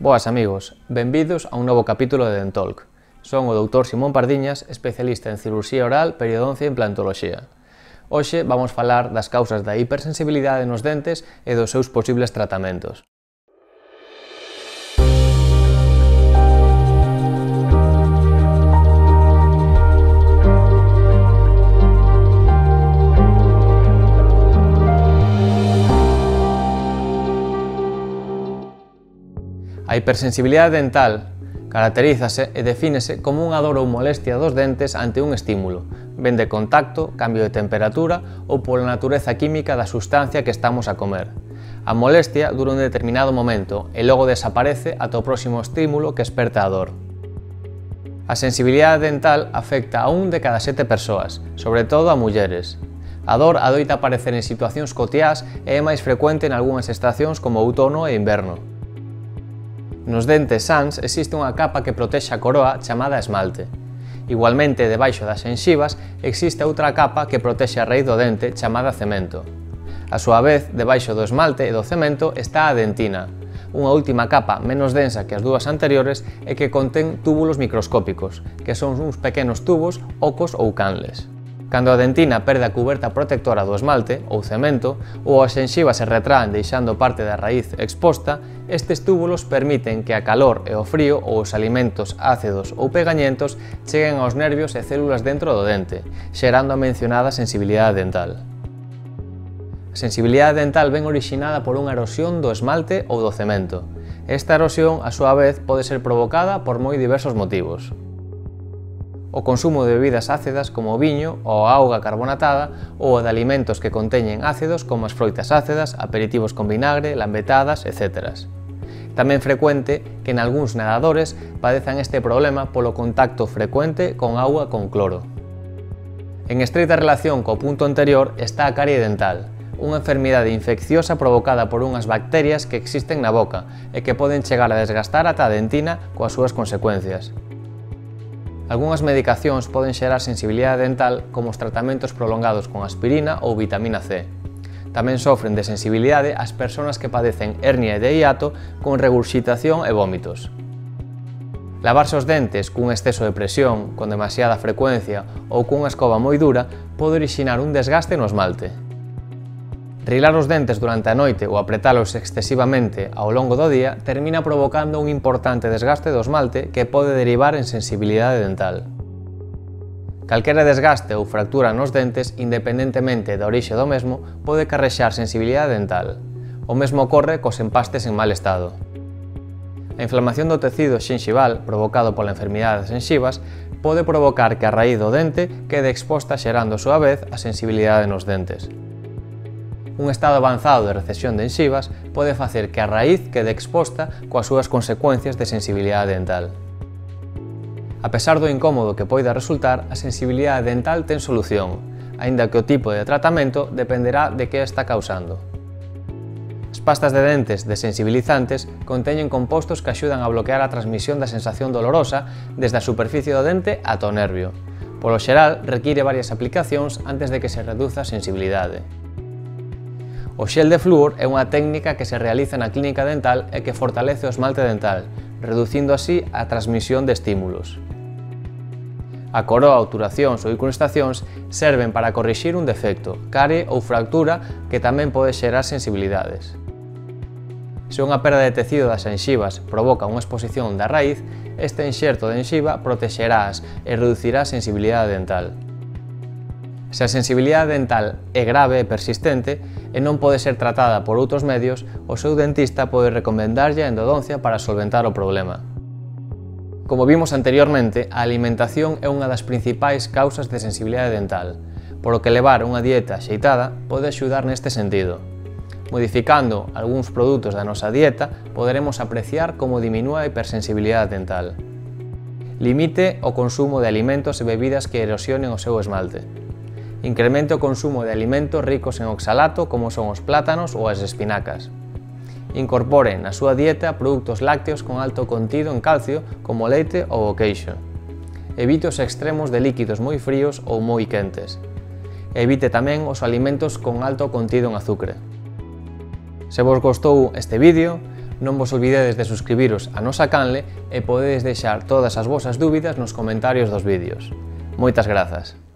Boas amigos, benvidos a un novo capítulo de Dentalk. Son o Dr. Simón Pardiñas, especialista en cirurxía oral, periodoncia e implantoloxía. Hoxe vamos falar das causas da hipersensibilidade nos dentes e dos seus posibles tratamentos. A hipersensibilidade dental caracterízase e defínese como unha dor ou molestia dos dentes ante un estímulo, ben de contacto, cambio de temperatura ou pola natureza química da sustancia que estamos a comer. A molestia dura un determinado momento e logo desaparece ata o próximo estímulo que esperta a dor. A sensibilidade dental afecta a 1 de cada 7 persoas, sobre todo a mulleres. A dor adoita aparecer en situacións cotiás e é máis frecuente en algunhas estacións como outono e inverno. Nos dentes sans existe unha capa que protexe a coroa chamada esmalte. Igualmente, debaixo das xenxivas existe outra capa que protexe a raíz do dente chamada cemento. A súa vez, debaixo do esmalte e do cemento está a dentina, unha última capa menos densa que as dúas anteriores e que contén túbulos microscópicos, que son uns pequenos tubos, ocos ou canles. Cando a dentina perde a cuberta protectora do esmalte, ou cemento, ou as xenxivas se retraen deixando parte da raíz exposta, estes túbulos permiten que a calor e o frío ou os alimentos ácidos ou pegañentos cheguen aos nervios e células dentro do dente, xerando a mencionada sensibilidade dental. A sensibilidade dental ven orixinada por unha erosión do esmalte ou do cemento. Esta erosión, a súa vez, pode ser provocada por moi diversos motivos. O consumo de bebidas ácidas como o viño ou a auga carbonatada ou o de alimentos que conteñen ácidos como as froitas ácidas, aperitivos con vinagre, lambetadas, etc. Tamén frecuente que en algúns nadadores padezan este problema polo contacto frecuente con auga con cloro. En estreita relación co punto anterior está a carie dental, unha enfermidade infecciosa provocada por unhas bacterias que existen na boca e que poden chegar a desgastar ata a dentina coas súas consecuencias. Algunhas medicacións poden xerar sensibilidade dental como os tratamentos prolongados con aspirina ou vitamina C. Tamén sofren de sensibilidade as persoas que padecen hernia de hiato con regurxitación e vómitos. Lavarse os dentes cun exceso de presión, con demasiada frecuencia ou cunha escova moi dura pode orixinar un desgaste no esmalte. Rilar os dentes durante a noite ou apretalos excesivamente ao longo do día termina provocando un importante desgaste do esmalte que pode derivar en sensibilidade dental. Calquera desgaste ou fractura nos dentes, independentemente da orixe do mesmo, pode carrexar sensibilidade dental. O mesmo ocorre cos empastes en mal estado. A inflamación do tecido xenxival, provocado pola enfermidade das xenxivas, pode provocar que a raíz do dente quede exposta xerando a súa vez a sensibilidade nos dentes. Un estado avanzado de recesión de xenxivas pode facer que a raíz quede exposta coas súas consecuencias de sensibilidade dental. A pesar do incómodo que poida resultar, a sensibilidade dental ten solución, aínda que o tipo de tratamento dependerá de que está causando. As pastas de dentes desensibilizantes conteñen compostos que axudan a bloquear a transmisión da sensación dolorosa desde a superficie do dente ata o nervio. Polo xeral, require varias aplicacións antes de que se reduza a sensibilidade. O xel de flúor é unha técnica que se realiza na clínica dental e que fortalece o esmalte dental, reducindo así a transmisión de estímulos. A coroa, obturacións ou incrustacións serven para corrixir un defecto, carie ou fractura que tamén pode xerar sensibilidades. Se unha perda de tecido das xenxivas provoca unha exposición da raíz, este enxerto de xenxiva protexerás e reducirá a sensibilidade dental. Se a sensibilidade dental é grave e persistente e non pode ser tratada por outros medios, o seu dentista pode recomendarlle a endodoncia para solventar o problema. Como vimos anteriormente, a alimentación é unha das principais causas de sensibilidade dental, por o que levar unha dieta axeitada pode axudar neste sentido. Modificando algúns produtos da nosa dieta, poderemos apreciar como diminúa a hipersensibilidade dental. Limite o consumo de alimentos e bebidas que erosionen o seu esmalte. Incremente o consumo de alimentos ricos en oxalato como son os plátanos ou as espinacas. Incorpore na súa dieta produtos lácteos con alto contido en calcio como o leite ou o queixo. Evite os extremos de líquidos moi fríos ou moi quentes. Evite tamén os alimentos con alto contido en azúcar. Se vos gostou este vídeo, Non vos olvidedes de suscribiros a nosa canle e podedes deixar todas as vosas dúbidas nos comentarios dos vídeos. Moitas grazas!